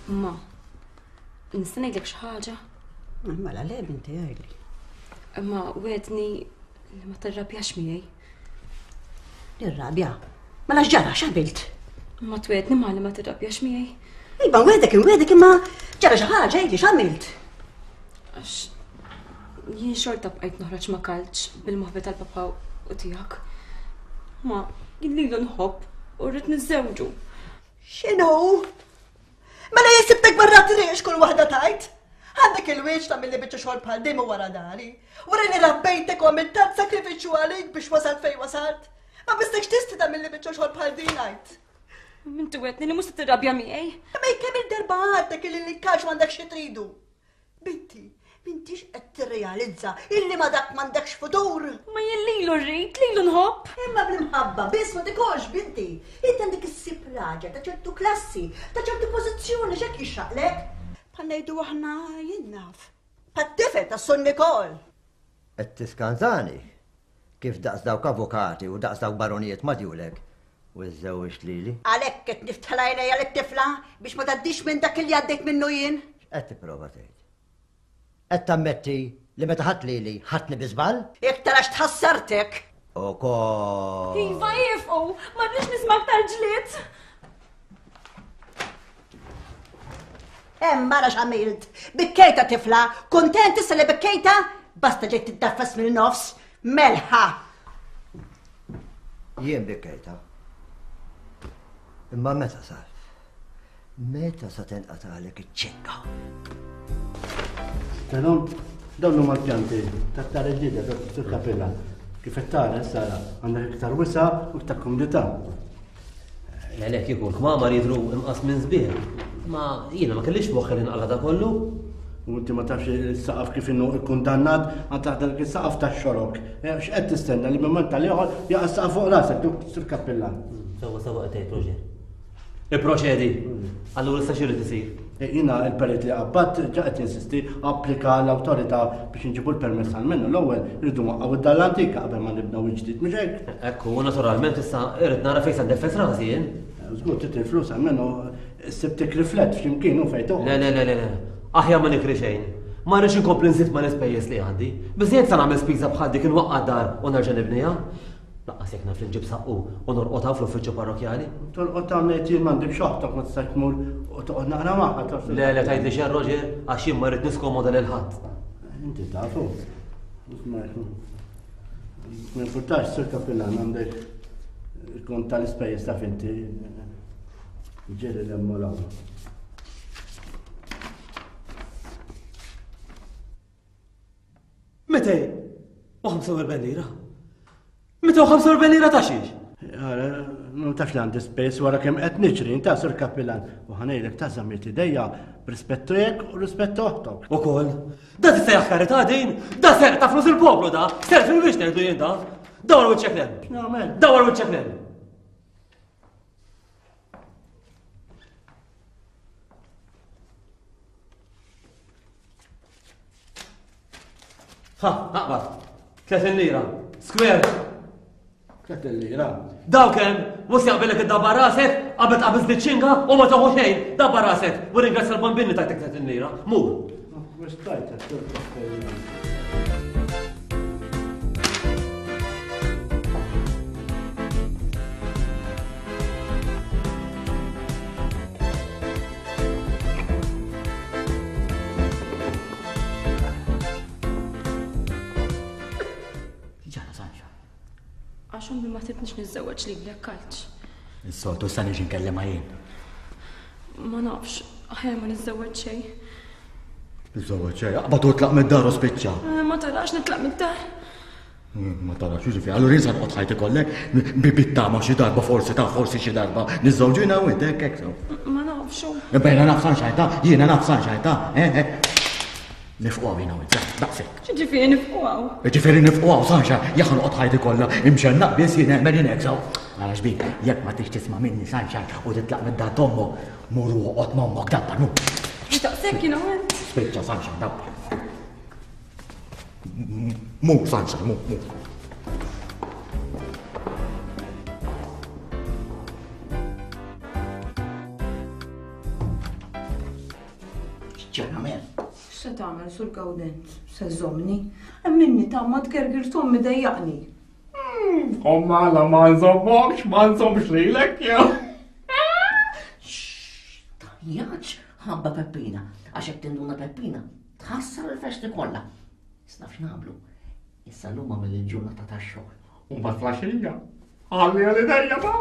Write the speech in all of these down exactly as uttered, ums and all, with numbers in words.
Ma, nista' ngħidlek xi ħaġa? Mela le binti għajli. Imma wegħdni li ma tirrabjax miegħi. Nirrabja? Mela x'ġara x'għamilt? Ma twegħdni ma li ma tirrabjax miegħi. Iva nwegħdek inwegħdek imma ġara xi ħaġa għidli x'għamilt? Għax jien xorta bqajt noħroġ ma' Kalċ bil-moħbi tal-papa u tiegħek. Ma jien lilu nħobb u rrid niżżewġu. X'inhu? Mela jien sibtek barra triq x'kull waħda tajt? Għandek il-wieġ ta' milli biċċa xogħol bħal din wara dari. Wara li rabbejtek u għamilt tant sakrifiċċju għalik biex wasalt fejn wasalt. Ma bistekx tisti ta' milli biċċa xogħol bħal din għajt. Inti wegħdni li mhux se tirrabja miegħi. Imma kemm il-darba għadtek illi l-kalċ m'għandek xi tridu. Binti, m'intix qed tirrealizza illi ma dak m'għandekx futur. Ma jien lilu rrid, lilu nħobb. Imma bl-imħabba biss ma tikolx binti. Inti għandek issib raġel ta' ċertu klassi, ta' ċertu pożizzjoni x'hekk jixraqlek. Bħal ngħidu aħna jien naf. Bħat-tifel ta' Sun Nikol. Qed tiskantani kif daqs dawk avukati u daqs dawk baronijiet ma djulek u żżewġt lili. Għalhekk qed niftħel għajnejja lit-tifla biex ma tgħaddix minn dak li għaddejt minnu jien. X'qed tipprova tgħid? Qed tammetti li meta ħadd lili ħadni bi żball? Iktar għax tħassartek. Ukoll. Iva jifqu, ma rridx nisma' aktar ġlied. Hemm mara x'għamilt. Bikkejta tifla, kuntent issa li bikkejta? Basta ġejt tiddaffas mill-nofs, melħa. Jien bikkejta. Imma meta sar? Meta sa tenqatalek iċ-ċinga? Tenon, dawn huma l-pjanti tat-tara ġdida tal-kapella. Kif qed tara issa għandek iktar wisa' u iktar kumdità. Le kieku l-kmamar jidhru imqas minn sbieħ. Ma jiena ma kellix moħħi li nqala da kollu. U inti ma tafx is-saqaf kif inhu ikkundannat għal taħt dak is-saqaf tax-xorok. X'qed tistenna li minn mument tal-ieħor jaqa' s-saqaf fuq rasek duk sur kappillan. Sewwa sewwa qed tgħid Roger. Ipproċedi. Allura issa x'irid isir? Jiena il-perit li qabbadt ġa qed jinsisti applika l-awtorità biex inġibu l-permess għal minnu. L-ewwel irridu nwaqqgħu id-dar l-antika qabel ma nibnew il-ġdid, mhux hekk? Ekku, naturalment issa irrid nara fejn se ndeffes rasi jien. Żgur trid il-flus għalmenu ssib tikri flet f'x'imkien u fejn toqgħod. Le, le, le, le, le. Aħjar ma nikri xejn. Ma rridx inkompli nżid ma l-ispejjeż li għandi. Biżejjed se nagħmel spiża bħal dik inwaqqa' dar u nerġa' nibniha. Laqqas jekk naf li nġib saqqu u norqod hawn fl-uffiċċju parrokjali. Torqod hawn ngħid jien m'għandekx oħtok ma tistax tmur u toqgħod naqra magħha taf. Le, le tgħidli xejn Roger, għax jien ma rrid niskomoda lil ħadd. Inti tafu. Ma jinfurtax sur kappillan għandek il-kont tal-ispejjeż taf inti. Ġeri l-hemm u l-hawn. Mitej u ħamsa u erbgħin lira. Mitej u ħamsa u erbgħin lira ta' xiex? Ara, ma tafx li għandi spejs wara kemm qed niġri, inta sur kappillan. U ħanejlek ta' żammiet idejja b'rispett tiegħek u rispett oħtok. Ukoll. Da tista' karità din? Da serq ta' flus il-poplu da! Serq fil-wiex ngħidu jien da! Dawar wiċċek lem! X'nagħmel? Dawar wiċċek lem! Ha, aqbad. Tletin lira. Square. Tletin lira. Daw kemm, mhux jaqbellek id-dabbar rasek, qabel tqabiż ċinga u ma toħu xejn, dabbar rasek. U ringrazzja l-bambini tajtek tletin lira. Mur. Għax ommi ma tridnix niżżewweġ lilek Kalċ. Is-soltu sa niġi nkellem jien. Ma nafx, aħjar ma niżżewweġ xejn. Niżżewweġ xejn, aqbad u tlaq mid-dar u spiċċa. Eh, ma tarax nitlaq mid-dar. Ma tarax, jiġifieri, allura jien sa noqgħod ħajti kollek bi bittama xi darba forsi ta' forsi xi darba niżżewġu jiena u inti hekk hekk sew. Ma nafx. Imma jiena naf Sunshine ta' jiena naf Sunshine ta' eh, eh. Nifqu għaw jiena u inti, daqshekk. X'ġifieri nifqu għaw? Ġifieri nifqu għaw, Sunshine, jekk noqgħod ħajti kollha imxennaq biss jien nagħmel jien hekk sew. Ara xbik, jekk ma tix tisma' minni Sunshine u titlaq mid-dar t'ommok, mur u oqgħod m'ommok dabbar, mur. Daqshekk jiena u int. Spiċċa Sunshine, dabbar. Mur Sunshine, mur, mur. Ġara mel. X'se tagħmel sur Gawdenz? Se żommni? Emminni ta' ma tgergir tommi dejjaqni. Omma la ma nżommokx, ma nżommx lilek jew. Jaċ ħabba Peppina, għax hekk tinduna Peppina, tħassar il-festi kollha. Issa naf x'nagħmlu. Issa llum għamel il-ġurnata tax-xogħol. U mbagħad flaxija. Ħalli għal idejja ta'.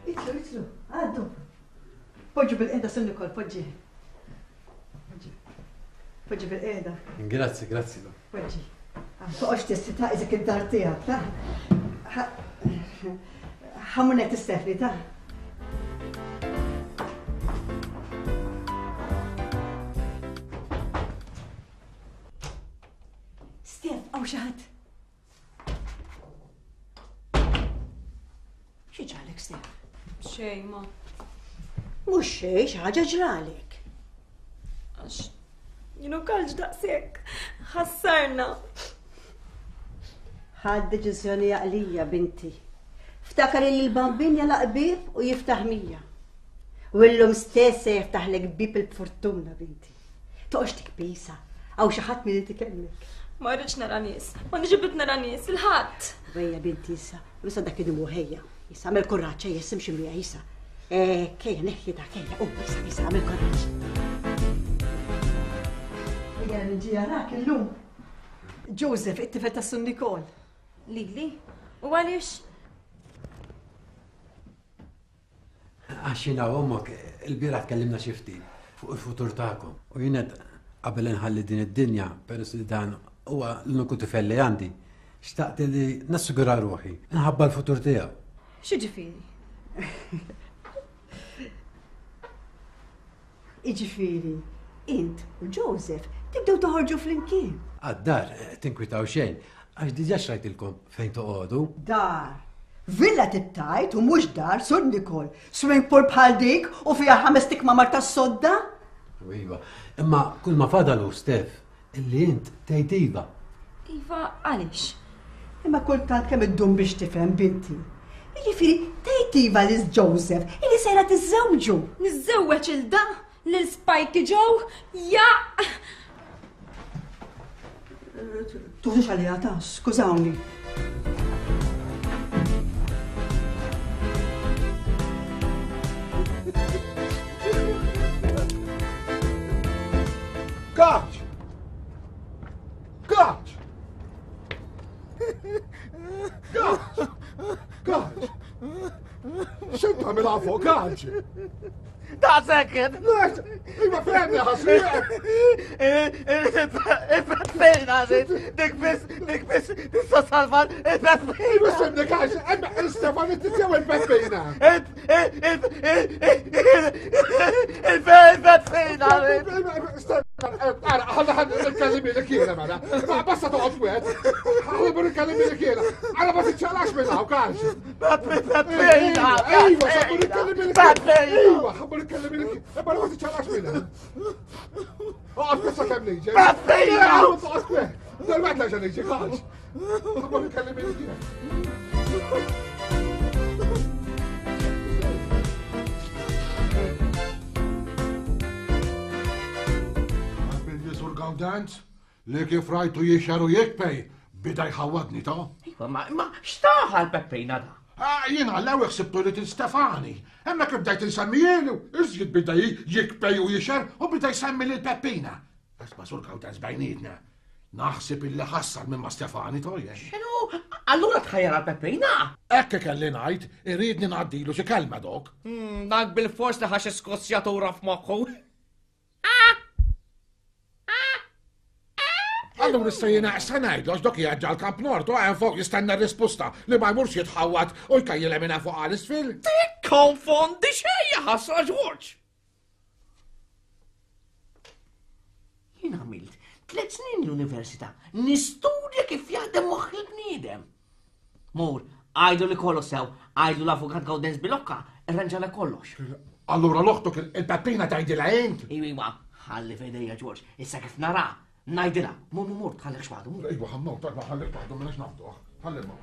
Itlu, itlu, għaddu. Poġġu bil-qeda Sun Nikol, poġġi. Poġġi. Poġġi bil-qeda, Grazzi, grazzi. poġġi. Toqgħodx tistita iżek id-dar tiegħek, ta' Ħamunet Stefni, ta' Stef, għaw xi ħadd. Xi ġralek, Stef? Xejn ma. Mhux xejn, xi ħaġa ġralek. Għax jienu kalġ daqshekk. Ħassarna. Ħad deċiżjoni għaqlija, binti. Ftakar li l-bambin jalaq bib u jiftaħ mija. U illum stess se jiftaħlek bib il-fortuna, binti. Toqgħodx tikbisa, għaw xi ħadd min itikellmek. Ma rridx nara nies. Ma niġibit nara nies il-ħadd. Ejja binti issa, issa dak id-dmu ħejja. Issa għamel kuraġġ, ejja simxi miegħi issa. Eh, kejja neħħi dak ejja, u issa issa għamel kuraġġ. Ejja niġi jarak illum. Joseph, it-tifel ta' Sun Nikol. Lili? U għaliex? Għax jiena u ommok il-bieraħ tkellimna xi ftit fuq il-futur tagħkom. U jien qed qabel inħalli din id-dinja, peress li dan huwa l-uniku tifel li għandi, xtaqt li nassigura ruħi, nħabba l-futur tiegħu. X'jiġifieri? Iġifieri, int u Joseph tibdew toħorġu flimkien. Għad-dar tinkwitaw xejn, għax diġà xrajtilkom fejn toqogħdu. Dar. Villa tittajt u mhux dar, Sur Nikol. Swimming pool bħal dik u fiha ħames tikmamar tas-sodda? Iva, imma kull ma fadalu, Stef, illi int tgħid iva. Iva, għaliex? Imma kultant kemm iddum biex tifhem, binti. Jiġifieri tgħid iva lil Joseph illi sejra tiżżewġu. Niżżewweġ il da lil Spikey Joe? Ja! Tuħux għalija ta' skużawni. Kaċ! Kaċ! Kaċ! Kaċ! X'int tagħmel fuq kaċ? Ta' second! Iva fehmni ħasri! Il-Peppina, dik biss, dik biss, tista' salva il-Peppina! Iva semni kaċ, Stefan it-tizjaw il-Peppina! Il-Peppina! Ara, ħalla ħalla nitkellem lilek jiena mela. Ma basta toqgħod wieħed. Ħalla nitkellem lilek jiena. Ara ma tiċċaqlax minn hawn kax. Peppina! Iva, ħabbu nitkellem lilek. Iva, ħabbu nitkellem lilek. Imma ma tiċċaqlax minn hawn. Oqgħod bissa kemm niġi. Peppina! Oqgħod wieħed. Dal-waqt la niġi kax. Ħabbu nitkellem lilek jiena. Gawdenz, li kif rajtu jixxar u jikpej, bida jħawadni ta'. Iva, ma, ma, xtaħa l-Peppina da? Ah, jien għallew ħsibtu li til Stefani. Hemmhekk bdejt insemmijielu, iżjed bida jikpej u jixxar u bida jsemmi lil Peppina. Isma' sur Gawdenz bejnietna. Naħseb illi ħassar minn ma' Stefani tojja. X'inhu? Allura tħajjar għal Peppina? Hekk kelli ngħid, iridni ngħaddilu xi kelma dok. Hmm, dak bil-fors li ħax iskossjatura f'moħħu. Allura issa jiena issa ngħidlu għax dok jgħadġa l-Kamp Nord u hemm fuq jistenna r-risposta li ma jmurx jitħawwad u jkajjilha minn fuq għal isfil. Tikkonfondi xejn ħasra Ġorġ. Jien għamilt tliet snin l-università nistudja kif jaħdem moħħ il-bniedem. Mur, għajdu li kollox sew, għajdu l-avukat Gawdenz Bilocca, irranġala kollox. Allura l-oħtok il-Peppina tgħidilha int? Iwa, ħalli f'idejja Ġorġ, issa kif nara, ngħidilha, mur mur mur tħallek xwaħdu. Iwa, ħammur, tajba ħallek waħdu minnax nafduh. Ħalli mur.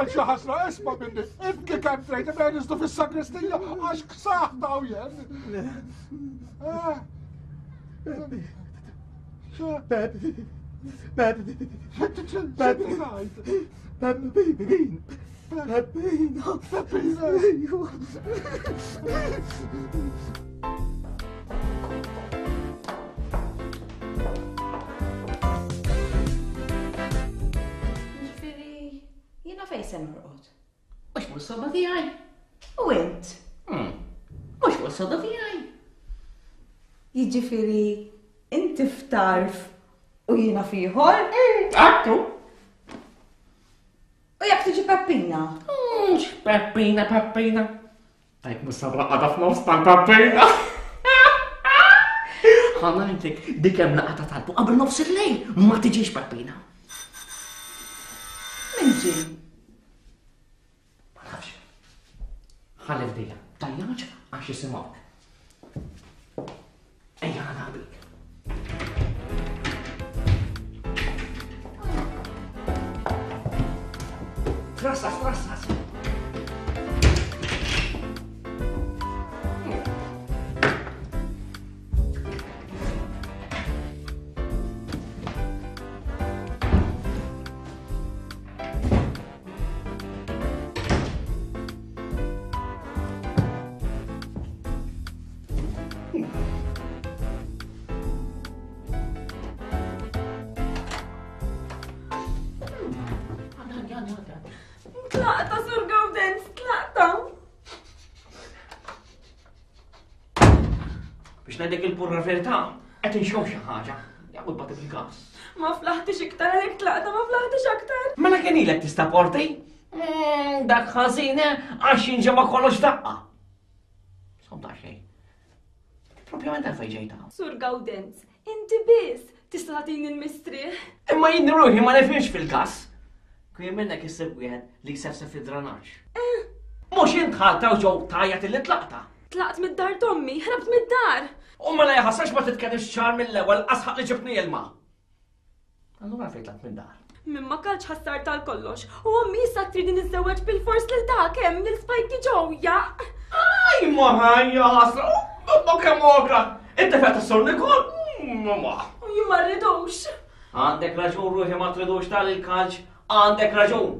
Xi ħasra isma' minni, ibki kemm trid imma niżdu fis-sagristija għax ksaħ daw jien. Peppi, Peppi, Peppi, Peppi, Peppina, Peppina. Fejn se norqod? Mhux fuq is-sodda tiegħi. U int? Mhux fuq is-sodda tiegħi. Jiġifieri inti f'tarf u jiena f'ieħor? Għattu. U jekk tiġi Peppina? Mhux Peppina, Peppina. Tajb mhux sabra qagħda f'nofs tal-Peppina. Ħa ngħidlek dik hemm laqgħa ta' talbu qabel nofs il-lejl ma tiġix Peppina. Min ġie? Ma nafx. Ħalli f'dejja, tajjaġ għax jisimgħuk. Ejja ħa naqbik. Trassas, trassas. Tlaqta, Sur Gawdenz, tlaqta! Biex ngħidlek il-purra verità, qed inxomm xi ħaġa. Jaqgħod bagħti bil-gas. Ma flaħtix iktar għalhekk tlaqta, ma flaħtix aktar. Mela kien ilek tista' porti? Dak ħażin għax jinġema kollox daqqa. Somta xejn. Propjament għalfejn ġejta. Sur Gawdenz, inti biss tista' tagħtini l-mistrieħ. Imma jien ruħi ma nifhimx fil-gas. Kien minnek issib wieħed li jsefsef id-dranaġġ. Mhux int ħalta u ġew tajjat illi tlaqta. Tlaqt mid-dar tommi, ħrabt mid-dar. U mela jaħasrax ma titkellimx ċar mill-ewwel qasħaq li ġibni ilma. Allura fejn tlaqt mid-dar? Min ma kalx ħassar tal-kollox u ommi issa tridni niżżewweġ bil-fors lil dak hemm lil Spikey Joe jaq. Aj ma ħajja ħasra, ma kemm ogra. Inti fejn tas-sur Nikol? Ma. U jien ma rridux. Għandek raġun ruħi ma tridux tal-kalċ. Għandek raġun.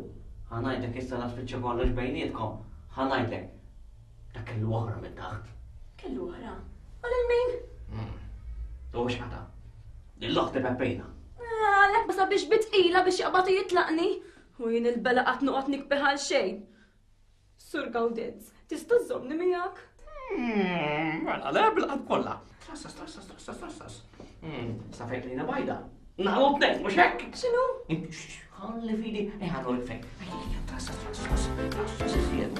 Ħa ngħidlek issa la tfittxa kollox bejnietkom. Ħa ngħidlek. Dak kellu oħra minn taħt. Kellu oħra? U lil min? U x'qata? Lill-oħti Peppina. Għalhekk ma sabiex bitqila biex jaqbad u jitlaqni. U jien il-bela qatt noqgħod nikbeħ għal xejn. Sur Gawdenz, tista' żżommni miegħek? Mela le bil-qalb kollha. Trassas, trassas, trassas, trassas. Sa fejn lejna bajda. Naqgħu tnejn, mhux hekk? X'inhu? Ħalli fidi, ejja ħanurek fejn. Ejja, trassas, trassas, trassas iżjed.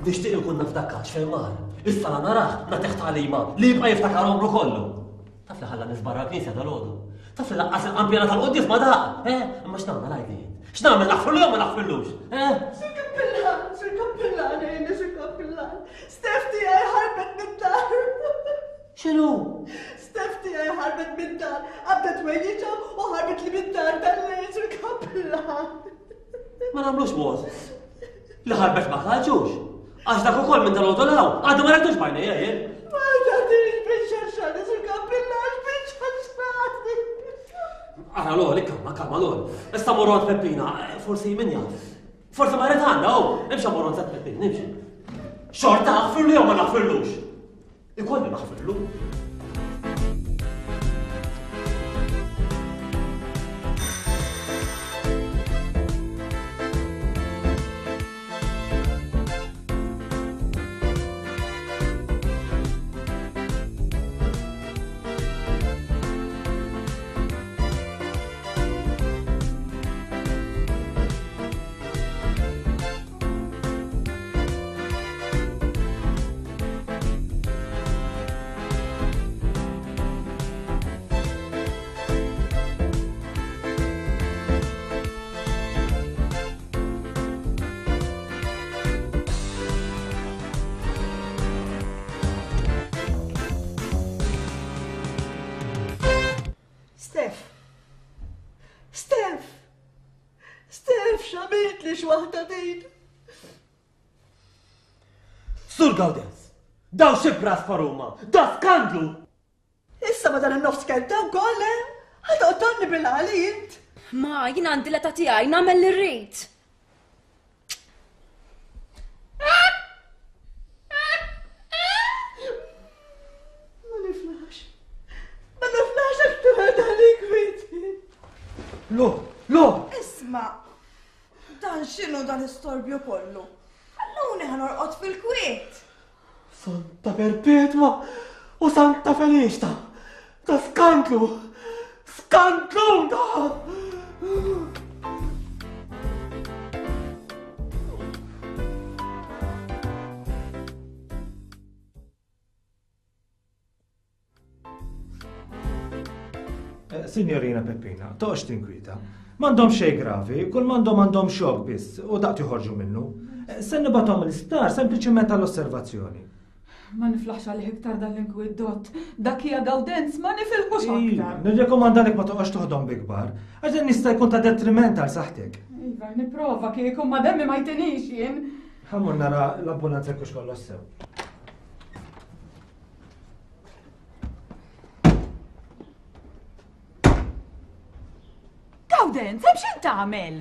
Nixtieq ikun naf dak kaċ fejn mar. Issa la narah nagħtih tagħlima li jibqa' jiftakar għomru kollu. Taf li ħalla nies barra l-knisja dalgħodu. Taf li laqqas il-qampjana tal-quddies ma daq, eh? Imma x'nagħmel għidli int? X'nagħmel naħfirlu jew ma naħfirlux? Eh? Sur Kappillan, Sur Kappillan, għinni Sur Kappillan. Steph tiegħi ħarbet mid-dar. X'inhu? Steph tiegħi ħarbet mid-dar. Qabdet wejjiġha u ħarbet li mid-dar tal-lejl Sur Kappillan. Ma nagħmlux mod. Li ħarbet ma ħarġux. Għax dak ukoll minn dal-għodu law, għadu ma rajtux bajnejja jien. Ma tagħtix biċċa Sur Kappillan, biċċa xagħri. Ara l-għol, ikkalma, kalma l-għol. Issa morru għand Peppina, forsi min jaf. Forsi ma rrid għandha, oh, imxi morru għand Peppina, imxi. Xorta naħfirlu jew ma naħfirlux? Ikolli naħfirlu. Steph! Steph! Steph, x'għamilt li x'waħda din? Sur Gawdenz, daw xi braspa huma, da skandlu! Issa ma dan in-nofs kelta wkoll, eh? Ħa toqtolni bil-għali int. Ma, jien għandi l-età tiegħi nagħmel li rrid. Ma niflax. Ma niflax aktar għalik kwiti. Lo, lo! Isma, dan x'inhu dan l-istorbju kollu? Ħalluni ħa norqod fil-kwiet. Santa Perpetwa u Santa Feliċta. Ta' skandlu! Skandlu da! Signorina Peppina, toqgħodx tinkwieta. M'għandhom xejn gravi, kull m'għandhom għandhom xokk biss u daqt joħorġu minnu. Se nibgħathom l-isptar sempliċement għall-osservazzjoni. Ma niflaħx għalih iktar dan l-inkwiet dott. Dak hija Gawdenz ma nifilħux aktar. Nirrekomandalek ma toqgħodx toħdom bi kbar, għax dan jista' jkun ta' detriment għal saħħtek. Iva, nipprova kieku ma demmi ma jtinix jien. Ħa mmur nara l-ambulanza jekk hux kollox sew. Gawdenz, hemm x'int tagħmel?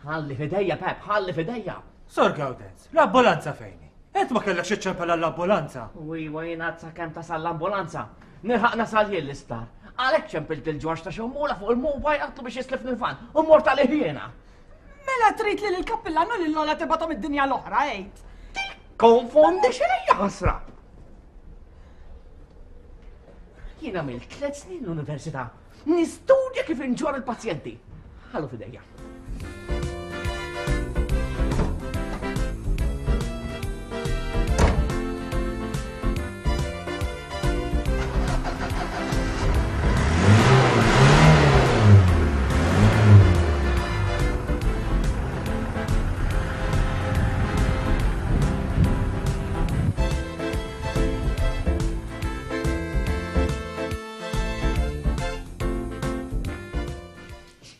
Ħalli f'idejja, Pep, ħalli f'idejja. Sor Gawdenz, l-ambulanza fejni? Int ma kellekx iċċempel għall-ambulanza. U iwa jien għad sakemm tasal l-ambulanza. Nilħaq nasal jien l-isptar. Għalhekk ċempilt il-Ġorġ ta' Xewmula fuq il-mobile għatlu biex jislifni l-van u mort għalih jiena. Mela trid li l-kappillan u lil Lola tibgħathom id-dinja l-oħra, għid. Konfondi xejn ħasra. Jien għamilt tliet snin l-università. Nistudja kif inġor il-pazjenti. Ħallu f'idejja.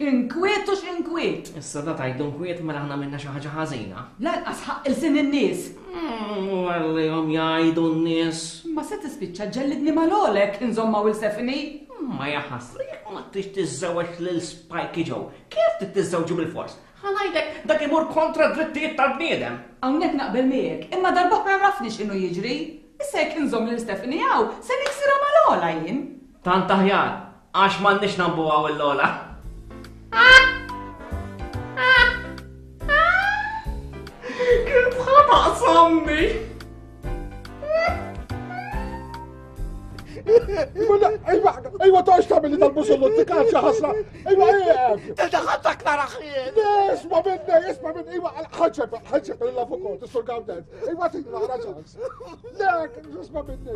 Inkwiet u x'inkwiet. Issa da tajdu nkwiet mela aħna minna xi ħaġa ħażina. Lanqas ħaqq il-sin in-nies. Għallihom jgħidu n-nies. Ma se tispiċċa ġellidni mal-għolek inżomma u l-Stephanie. Ma jaħasra, jekk ma tix tiżżewweġ lil Spikey Joe, kif trid tiżżewġu bil-fors? Ħa ngħidlek dak imur kontra d-drittijiet tal-bniedem. Hawnhekk naqbel miegħek, imma darb'oħra rafni x'inhu jiġri. Issa jekk inżomm lil Stephanie hawn, se niksirha mal-għola jien. Tant aħjar, għax m'għandniex nambu hawn il-Lola. Kif ħa taqsamni? Ejwa, ejwa, toqgħodx tagħmel tal-busullutti kalċa ħasra. Ejwa, ejwa. Daħaltak naraħ. Isma' minni, isma' minni, ejwa, ħaġġeb, ħaġġeb lill-avukat, is-Sur Gawdenz. Ejwa, tini naqra ċans. Lek, isma' minni.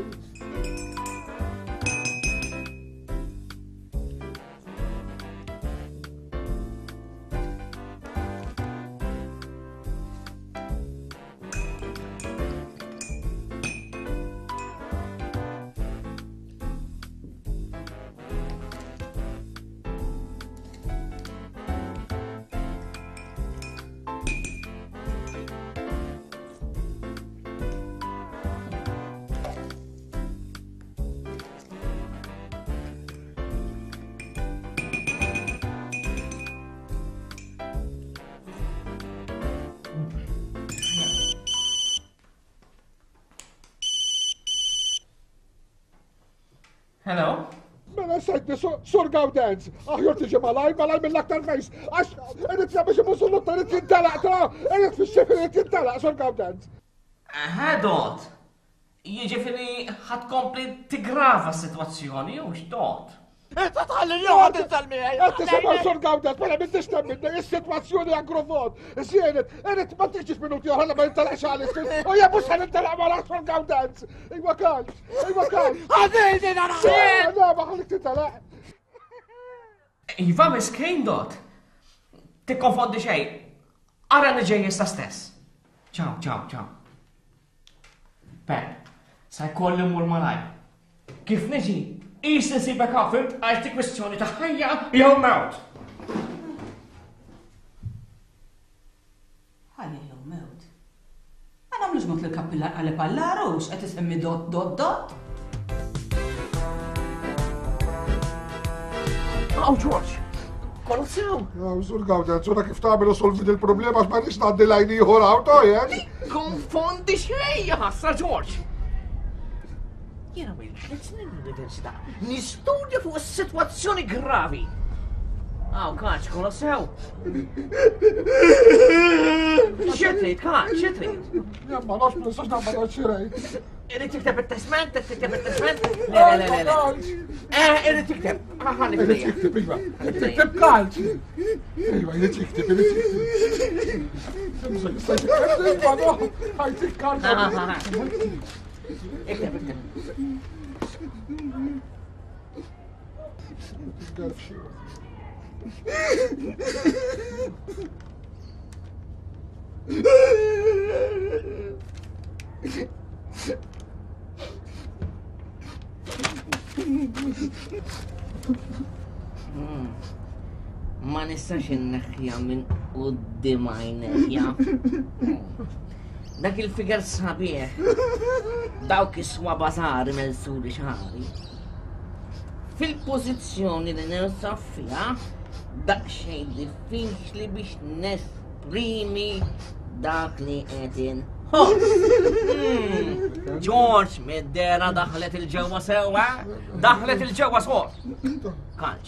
Hello? Mela sejtni, Sur Gawdenz, aħjar tiġi malaj, malaj mill-aktar fejs, għax irrid biex imusullut irrid jintelaq ta' irrid fix-xif irrid jintelaq, Sur Gawdenz. Aha, Dot. Jiġifieri ħa tkompli tigrava s-sitwazzjoni u x'dot? Inta tħalli l-joħod intal miegħi. Qed tisimgħu Sur Gawdenz, mela m'intix temminni, is-sitwazzjoni aggrovat. Żienet, irid ma tiġix minuti oħra ma jintelaqx għal U jien mhux ħa nintelaq wara Sur Gawdenz. Ejwa kalm, ejwa kalm. Ħadini naraħ! Le, ma ħallik tintelaq. Iva miskin Dot. Tikkonfondi xejn. Ara li ġej issa stess. Ciao, ciao, ciao. Pep, sa jkolli mmur malaj. Kif niġi, Is nsibek hawn, għax dik kwestjoni ta' ħajja jew mewt. Ħajja jew mewt. Ma nagħmlux mod li l-kappillan qaleb għall-għarus qed isemmi dot dot dot. Aw George, kollu sew. Aw, Sur Gawdenz, ura kif tagħmel u solvi dil-problema għax ma rridx ngħaddi lajn ieħor hawn tojjen. Konfondi xejn ħassa George. Jiena minn tliet snin l-università nistudja fuq is-sitwazzjoni gravi. Aw, kaċ, kollu sew. Xi trid, kaċ, xi trid? Jien ma nafx, ma nistax nagħmel xi rejt. Irid tikteb it-testment, tikteb it-testment? Le, le, le, le. Eh, irid tikteb. Ħalli Irid fidejja. jikteb, iva. Irid jikteb kalċ. Iva, irid jikteb, irid jikteb. Iva, no, ħajtik kalċ. Ikteb, ikteb. Ma nistax inneħħija minn quddiem għajnejja. Dak il-figer sabiħ, dawk is-swaba żgħar imelsuli xagħri. Fil-pożizzjoni li ninsab fiha, daqsxejn diffiċli biex nesprimi dak li qed inħoss. George, mid-dera daħlet il-ġewwa sewwa, daħlet il-ġewwa sor. Kalċ,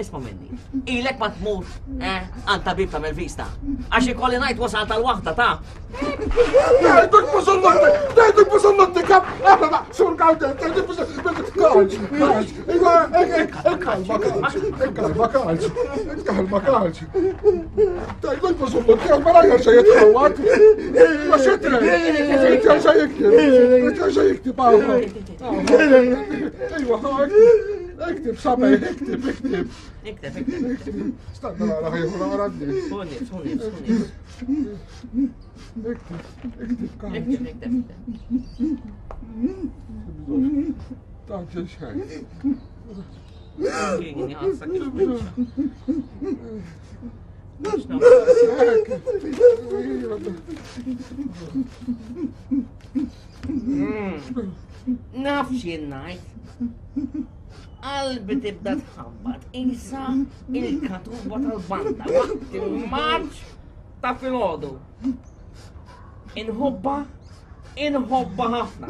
isma' minni. Ilek ma tmur, eh, għand tabib ta' Melvista. Għax ikolli ngħid wasal tal-waħda ta' Dajtuk busullotti, dajtuk busullotti kap, aħna Sur Gawdenz, dajtuk busullotti, kalċ, kalċ, iva, kalma, kalċ, kalma, kalċ, kalma, kalċ. Dajtuk busullotti, għal ma rajja xejn jitħawat. Ma xitre, jerġa' jiktib, jerġa' jiktib, Ejwa, iktib, sabe, iktib, iktib. Ikteb, ikteb. Stanna nara ħajħu nara d-nies. Suni, suni, suni. Iktib, iktib, kalċ. Ikteb, ikteb, ikteb. Taġġel xejn. Kien ħassa kif biċċa. Naf x'jien ngħid. Qalbi tibda tħabbat isa il-katuba tal-banda waqt il-marċ ta' filgħodu. Inħobba Inħobba ħafna.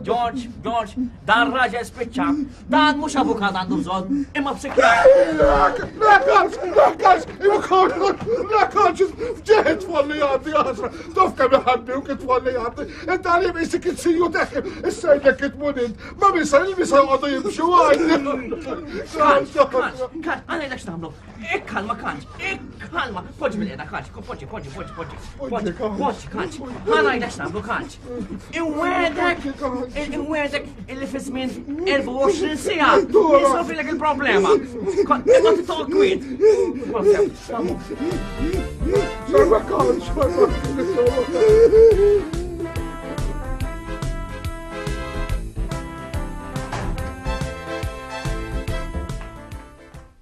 George, George, dan raġel spiċċa, dan mhux avukat għandu bżonn, imma psikjatru. La kalx, la kalx, la kalx, fġeħet tfalli għaddi għasra, taf kemm iħaddi u kitfalli għaddi, inta għalim isik it-siju teħim, issa jgħidlek kitmunint, ma misa il-misa għadu jimxu għajdi. Kalx, kalx, kalx, għana jgħidlek x'nagħmlu. Ikkalma, kalx, ikkalma, poġġi mill-qiegħda, kalx, poġġi, poġġi, poġġi, poġġi, poġġi, poġġi, kalx, għana jgħidlek x'nagħmlu, kalx. Inwedek, inwedek illi fi żmien erbgħa u għoxrin siegħa nisolvilek il-problema. Imma titol kwiet. Sarba kalx, sarba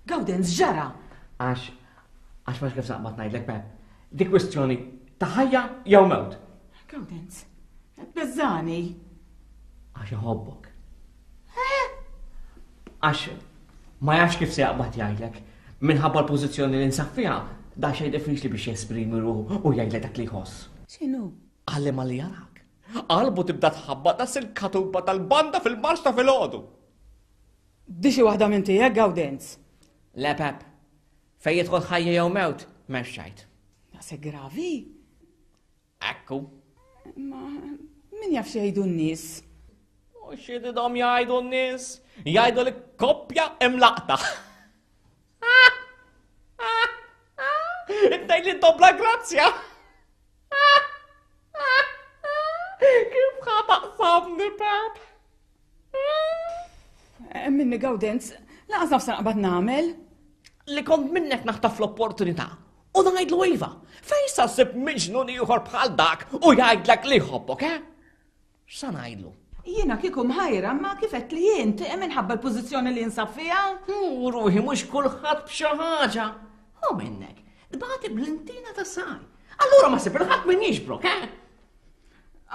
Gawdenz ġara. Għax, għax ma kif saqmat ngħidlek Pep, dik kwistjoni ta' ħajja jew mewt. Gawdenz, beżani. Għax iħobbok. Għax ma jafx kif se jaqbad jgħidlek. Minħabba l-pożizzjoni li nsab fiha, da xejn diffiċli biex jesprimi ruħu u jgħidlek dak li jħoss. X'inhu? Qalli ma li jarak. Qalbu tibda tħabbat das il-katuba tal-banda fil-marx ta' filgħodu. Di xi waħda minn tiegħek, Gawdenz? Le Pep, fejn jidħol ħajja jew mewt, m'hemmx xejn. Daqshekk gravi? Ekku. Ma min jaf xi jgħidu n-nies? U x'jidhom jgħidu n-nies? Jgħidu li koppja imlaqta. Intej li dobla grazzja. Kif ħa taqsamni, Pep? Minni Gawdenz, laqas nafsa naqbad nagħmel. Li kont minnek naħtaf l-opportunità u ngħidlu iva. Fejn sa ssib miġnun ieħor bħal dak u jgħidlek li jħobbok, eh? X'sa ngħidlu? Jiena kieku mħajra, ma kif qed li int minħabba l-pożizzjoni li jinsab fiha? U ruħi mhux kulħadd b'xi ħaġa. U minnek, tbagħti bl-intina ta' saj. Allura ma sib il-ħadd min jiġbrok, eh?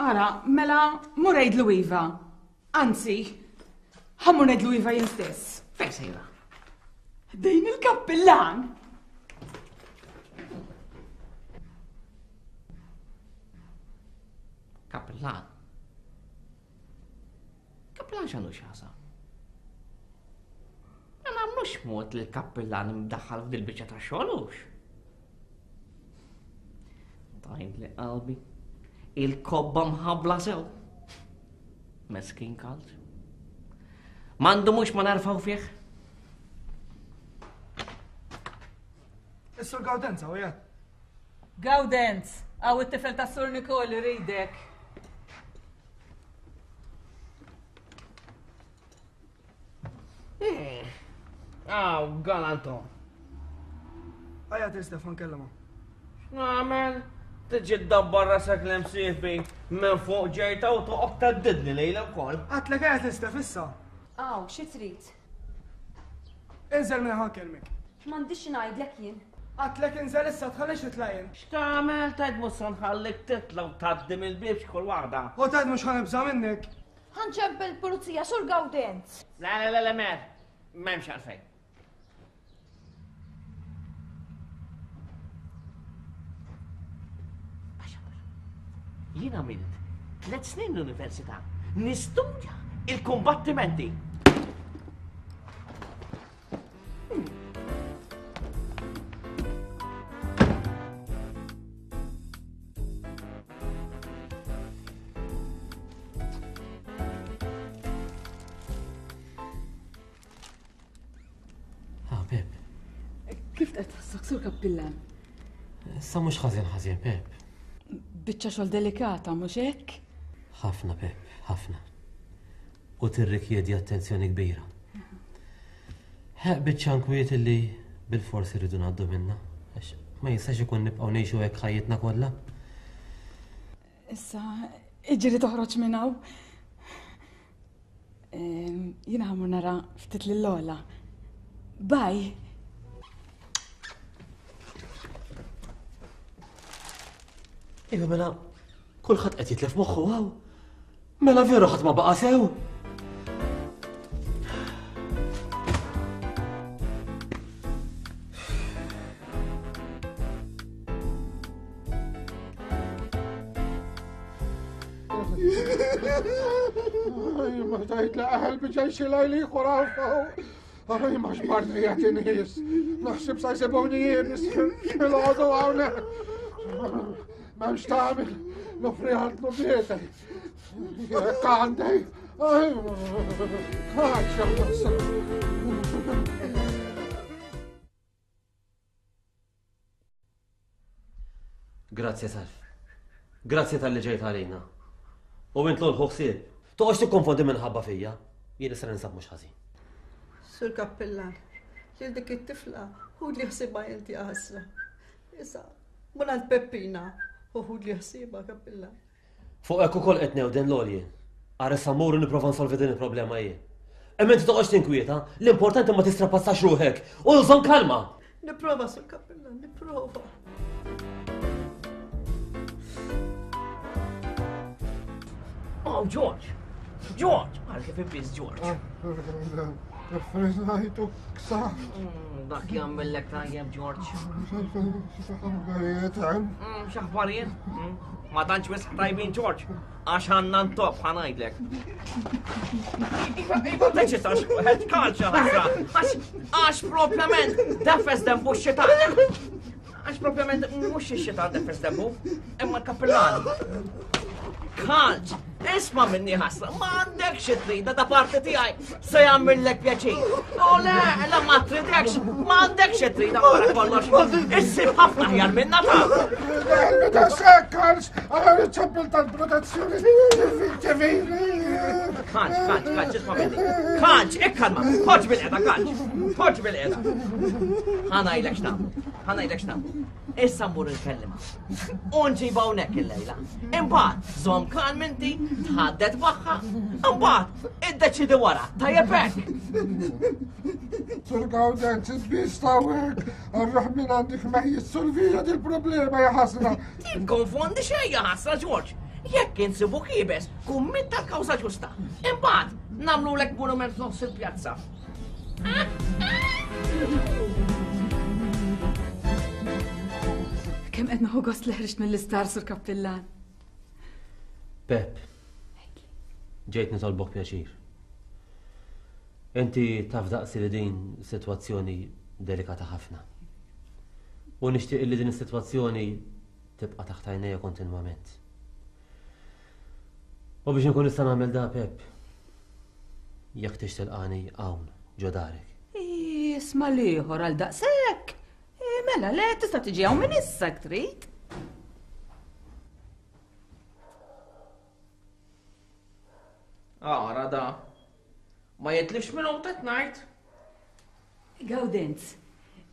Ara, mela mur għidlu iva. Anzi, ħammur ngħidlu iva jien stess. Fejn sejra? Dejn il-kappillan. Kappillan? Kappillan x'għandu x'jaqsam? Ma nagħmlux mod li l-kappillan imdaħħal f'dil-biċċa ta' xogħol hux. Tajt li qalbi, il-kobba mħabbla sew. Meskin kalt. M'għandu mhux ma narfaw fih. Is-Sur Gawdenz hawn qiegħed. Gawdenz, hawn it-tifel tas Sur Nikol iridek. Aw, galantom. Ejja til Stefan kellema. X'nagħmel? Tiġi ddabbar rasek l-imsieħbi minn fuq ġejta u toqgħod teddidni lejla wkoll. Għadtlek ejja til Stef issa. Aw, xi trid? Inżel minn ħa nkellmek. M'għandix xi ngħidlek jien. Għadtlek inżel issa tħallix titla' jien. X'tagħmel tgħid mhux se nħallik titla' u tgħaddi mill-bieb x'kull waħda. U tgħid mhux ħanibża' minnek. Ħanċebbel il-pulizija Sur Gawdenz. Le, le, le, le, mer. M'hemmx għalfejn. Jien għamilt tliet snin l-università nistudja il-kumbattimenti. Ah, Pep. Kif qed tħossok Sur Kappillan? Issa mhux ħażin ħażin, Pep. Biċċa xogħol delikata, mhux hekk? Ħafna, Pep, ħafna. U tirrikjedi attenzjoni kbira. Ħeq biċċa nkwiet illi bil-forsi rridu ngħaddu minnha, għax ma jistax ikun nibqgħu ngħixu hekk ħajjitna kollha. Issa, iġri toħroġ minn hawn. Ehm, jiena ħamur nara ftit lil Lola. Bye. Iva mela, kulħadd qed jitlef moħħu hawn. Mela veru ħadd ma baqa' sew. Ay, ma tajt laqaħel biġaj xilaj li xurafaw. Ay, ma xbart qiegħed inħis. Naħseb sa jsibuni jibis. Il-għodu hawnhekk. M'hemmx tagħmel. Nofri għal tnubieti. Jekk għandi. Ay, kaċċa. Grazie, Salv. Grazie tal-li ġejt għalina. U int l ħsieb. Toqgħodx tikkonfondi minħabba fija. Jien issa ninsab mhux ħażin. Sur Kappillan, lil dik it-tifla ħud li ħsiebha inti ħasra. Issa, minn għand Peppina u ħud li ħsiebha Kappillan. Fuq hekk ukoll qed newden l-għoljen. Ara issa mmur u nipprova nsolvi din il-problema jien. Imma inti toqgħodx tinkwieta, l-importanti ma tistrapazzax ruħek u żomm kalma. Nipprova, Sur Kappillan, nipprova. Oh, George! George! Għal kif ibbiż George. Friżajtu ksa. Dak jagħmellek tajjeb, George. X'aħbarijiet hemm? X'aħbarijiet? Ma tantx wisq tajbin, George. Għax għandna ntop ħa ngħidlek. Iva, iva, teċitax, ħed kalċa ħasra. Għax propjament defes dembu x-xitan. Għax propjament mhux ix-xitan defes dembu, imma l-kappillan. Kalċ, isma' minni ħasra, ma għandek xi trida da parti tiegħi se jagħmillek pjaċir. U le, la ma tridekx, ma għandek xi trida wara kollox. Issib ħafna aħjar minna ta'. Meta sekk, Kalċ, għara riċċabbel tal-protezzjoni ċivili. Kalċ, kalċ, kalċ, isma' minni. Kalċ, ikkalma, poġġ bil-qeda, kalċ, poġġ bil-qeda. Ħa ngħidlek x'nagħmlu, ħa ngħidlek x'nagħmlu. Issa mmur nkellima. U nġibha hawnhekk illejla. Imbagħad żomm kalm inti, tħaddet magħha, imbagħad iddeċidi wara, tajjeb hekk. Sur Gawdenz, bistawek, arruħ minn għandek ma jissolvija dil-problema ja ħasra. Tikkonfondi xejn ja ħasra, George. Jekk insibu kibes, kun min tal-kawża ġusta. Imbagħad nagħmlulek monument f'nofs il-pjazza. Kemm qed nieħu gost li ħriġt mill-istar, Sur Kappillan. Pep, ġejt nitolbok pjaċir. Inti taf daqsi li din sitwazzjoni delikata ħafna. U nixtieq li din is-sitwazzjoni tibqa' taħt għajnejja kontinwament. U biex inkun nista' nagħmel da, Pep, jekk tix tilqani hawn ġo darek. Isma' l-ieħor għal daqshekk. Mela, le, tista' tiġi hawn minn issa jekk trid. Ara da. Ma jitlifx minn hawn qed ngħid. Gawdenz,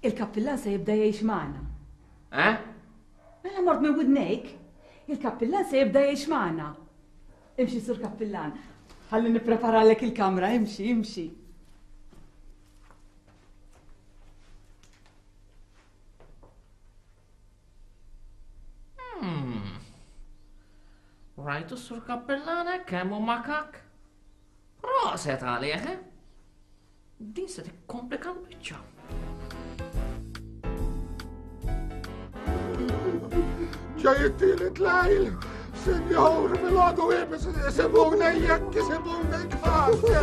il-kappillan se jibda jgħix magħna. Eh? Mela mort minn widnejk. Il-kappillan se jibda jgħix magħna. Imxi, Sur Kappillan. Ħalli nippreparalek il-kamra, imxi, imxi. Hmm. Rajtu Sur Kappillana kemm hu makak? Proset għalih, eh? Din se tikkomplika l-biċċa. Ġej it-tielet lejl, Sinjur, mill-għadu ibis, isibuna jekk isibuna kħasja.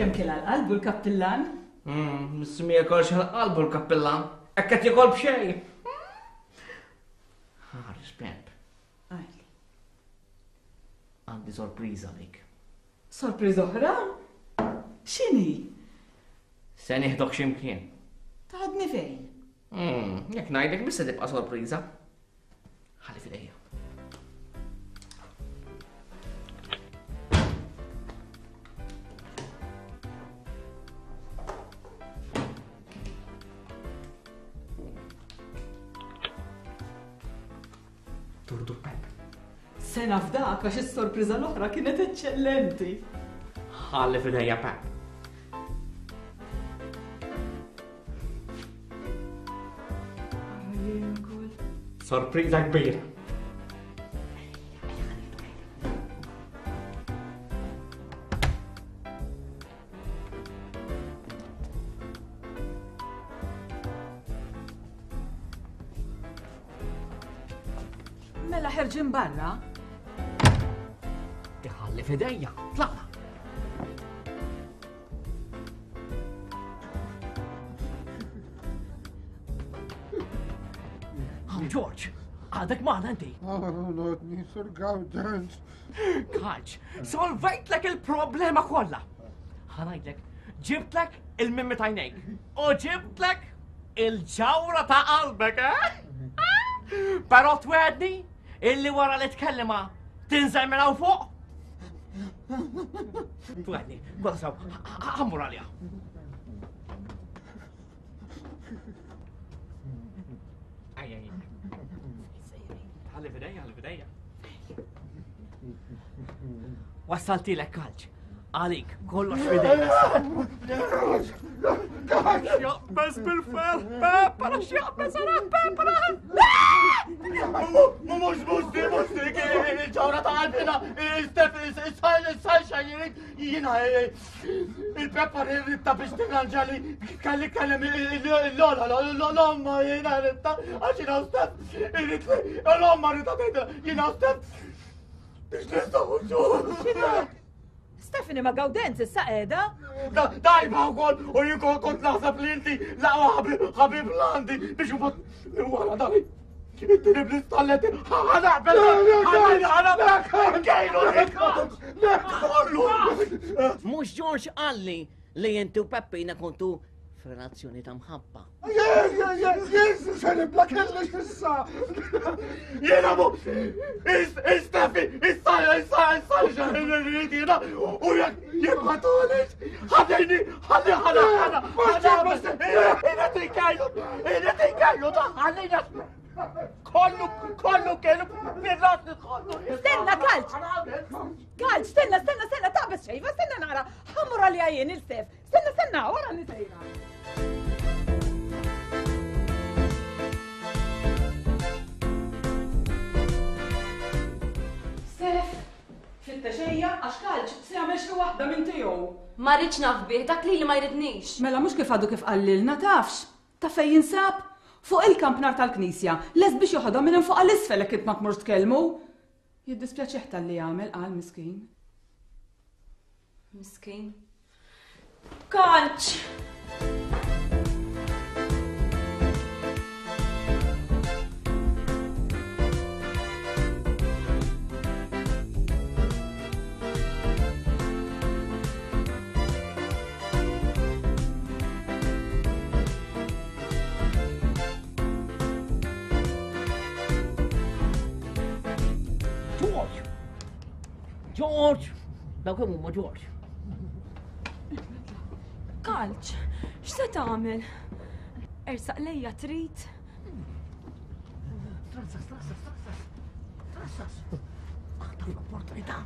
Kemm kien għal-qalbu l-kappillan? Missu mi jekolx għal-qalbu l-kappillan. Hekk qed jekol b'xejn. Ħares, Pep. Għajli. Għandi sorpriża għalik. Sorpriża oħra? X'inhi? Se nieħdok x'imkien. Taħodni fejn? Jekk ngħidlek biss se tibqa' sorpriża. Ħalli f'idejja. Turdu Pep. Sena f'dak għax is-sorpriża l-oħra kienet eċċellenti. Ħalli f'idejja Pep. Sorpriża kbira. Mela ħerġin barra? Iħalli f'idejja, tlaqna. Hawn George, għadek maħna inti. Nodni Sur Gawdenz. Kalċ, solvejtlek il-problema kollha. Ħa ngħidlek, ġibtlek il-mimmi tajnejk u ġibtlek il-ġawra ta' qalbek, eh? Però twedni illi wara li tkellima tinżel minn hawn fuq? Twedni, kolla sew, ħammur għalija. Ej, ej, ħalli f'idejja, ħalli f'idejja. Wassaltilek kalċ. Għalik, kollox f'idejja. X'jaqbeż bil-ferħ, Peppara, x'jaqbeż għara, Peppara! Mux, mux, di, mux, di, il-ġawra ta' qalbina, il-Stef, il-Sunshine, jina, il-Peppa ritta biex tirranġali, kalli kellem il-lola, l-omma jina ritta, għax jina u Stef, l-omma ritta tgħidha, jina u Stef, biex nistgħu. Stephanie ma' Gawdenz issa qiegħda? Dajba wkoll u jien kont naħseb li inti laqwa ħabib l-għandi biex imbagħad wara dali. Ittini bl-istalletti, ħanaqbel, ħanaqbel, kejlu kollu. Mhux George qalli li inti u Peppina kontu f'relazzjoni ta' mħabba. Yes, se nibla kellix issa. Jiena mu, Steffi, issa, issa, issa, xaħin jiena, u jekk jekk ma tagħlix, ħallini, ħalli, ħalli, ħalli, ħalli, tinkejlu, tinkejlu, ħallina. Kollu, kollu kellu, fil-ras kollu. Stenna, Kalċ! Kalċ, stenna, stenna, stenna, taqbeż xejfa, stenna nara. Ħammur għalija jien il-Stef. Stenna, stenna, wara nisejra. Stef, fitta xejja, għax Kalċ se jagħmel xi waħda minn tiegħu. Ma rridx naf bih, dak li ma jridnix. Mela mhux kif għadu kif qallilna tafx. Ta' fejn jinsab? Fuq il-kampnar tal-knisja, les biex joħodha minn fuq għall-isfel jekk int ma tmurx tkellmu. Jiddispjaċih talli jagħmel qal miskin. Miskin. Kalċ! George! George! Dawk kemm huma George? Kalċ, x'se tagħmel? Ersaq lejja trid? Trassas, trassas, trassas. Trassas. Għandha l-opportunità.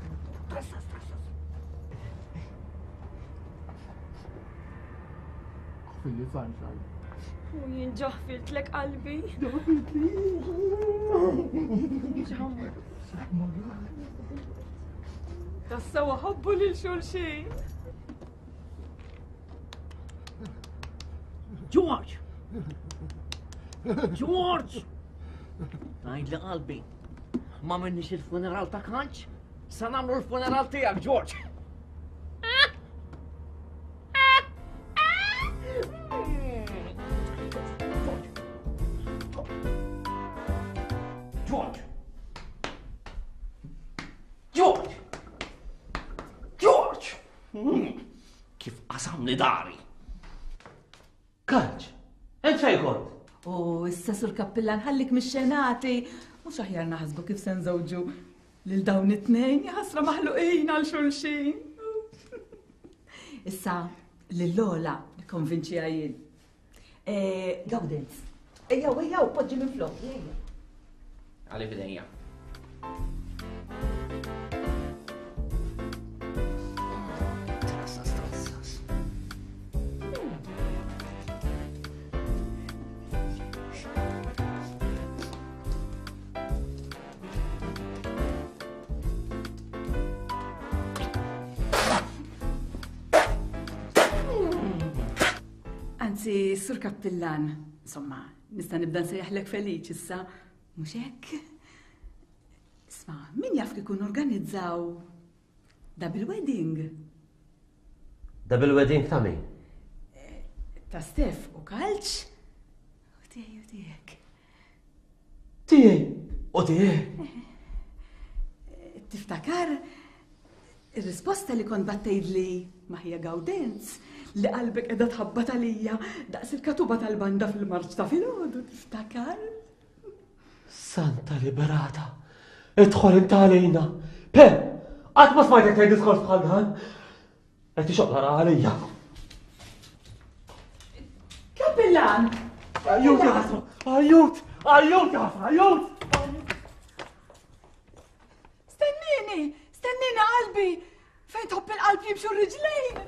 Trassas, trassas. Fili Sunshine. U jien ġaħfiltlek qalbi. Tassew ħobbu lil xulxin. George! George! Għajd li qalbi, ma minnix il-funeral ta' Kalċ, sa nagħmlu l-funeral tiegħek, George! George! George! George! Kif qasamni dari! Kalċ, int fejn kont? U issa Sur Kappillan ħallik mix-xenati. Mhux aħjar naħsbu kif se nżewġu lil dawn it-tnejn jaħasra maħluqin għal xulxin. Issa lil Lola nikkonvinċiha jien. Gawdenz, ejjew ejjew poġġi minn flok, ejja. Għalli f'idejja. Anzi, Sur Kappillan, insomma, nista' nibda nsejjaħlek Feliċ issa, mhux hekk? Isma', min jaf kieku organizzaw double wedding? Double wedding ta' min? Ta' Stef u Kalċ u tiegħi u tiegħek. Tiegħi u tiegħek? Tiftakar ir-risposta li kont battejtli ma' ħija Gawdenz li qalbek qiegħda tħabbat għalija daqs il-katuba tal-banda fil-marċ ta' filgħodu, tiftakar? Santa Liberata, idħol inta għalina. Pe, qatt ma smajtek tgħid diskors bħal dan. Qed tixoqla għalija. Kappillan! Ajut, ja ħasra! Ajut! Ajut, ja ħasra! Ajut! Stennini! Stennini qalbi! Fejn tħobb il-qalb jimxu r-riġlejn!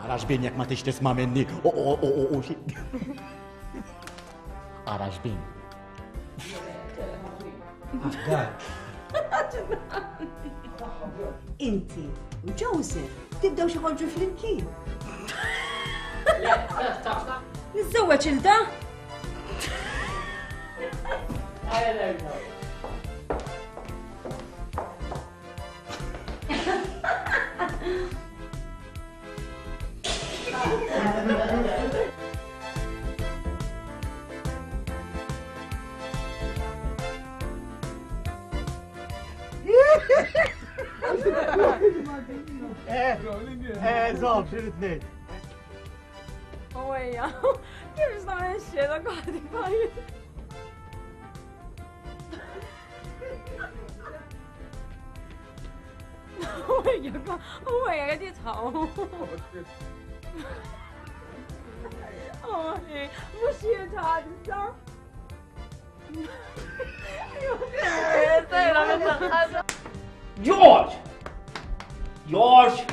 Ara xbin jekk ma tix tisma' minni. U u u u u xi. Ara xbin. Inti u Joseph tibdew xi ħorġu flimkien. Niżżewweġ il da? Eh, eh, żomm, xi tnejn. Ojja, kif nagħmel ix-xena għadi bajt? Ojja, ojja, qed jitħaqu. Oj, mhux jitħaq issa. George! George!